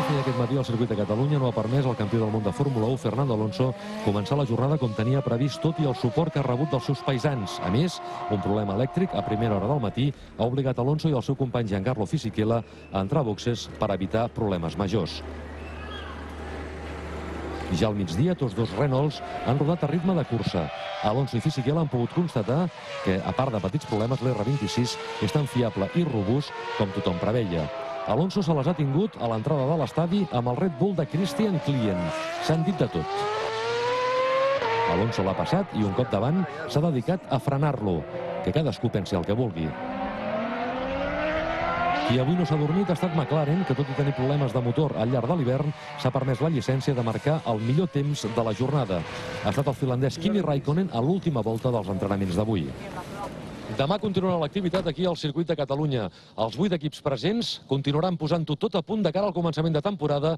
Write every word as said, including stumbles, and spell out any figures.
i aquest matí el circuit de Catalunya no ha permès al campió del món de Fórmula u, Fernando Alonso, començar la jornada com tenia previst, tot i el suport que ha rebut dels seus paisans. A més, un problema elèctric a primera hora del matí ha obligat Alonso i el seu company Giancarlo Fisichella a entrar a boxes per evitar problemes majors. Ja al migdia, tots dos Renaults han rodat a ritme de cursa. Alonso i Fisichella han pogut constatar que, a part de petits problemes, l'R vint-i-sis és tan fiable i robust com tothom preveia. Alonso se les ha tingut a l'entrada de l'estadi amb el Red Bull de Christian Klien. S'han dit de tot. Alonso l'ha passat i un cop davant s'ha dedicat a frenar-lo. Que cadascú pensi el que vulgui. Qui avui no s'ha dormit ha estat McLaren, que tot i tenir problemes de motor al llarg de l'hivern, s'ha permès la llicència de marcar el millor temps de la jornada. Ha estat el finlandès Kimi Raikkonen a l'última volta dels entrenaments d'avui. Demà continuarà l'activitat aquí al circuit de Catalunya. Els vuit equips presents continuaran posant-ho tot a punt de cara al començament de temporada.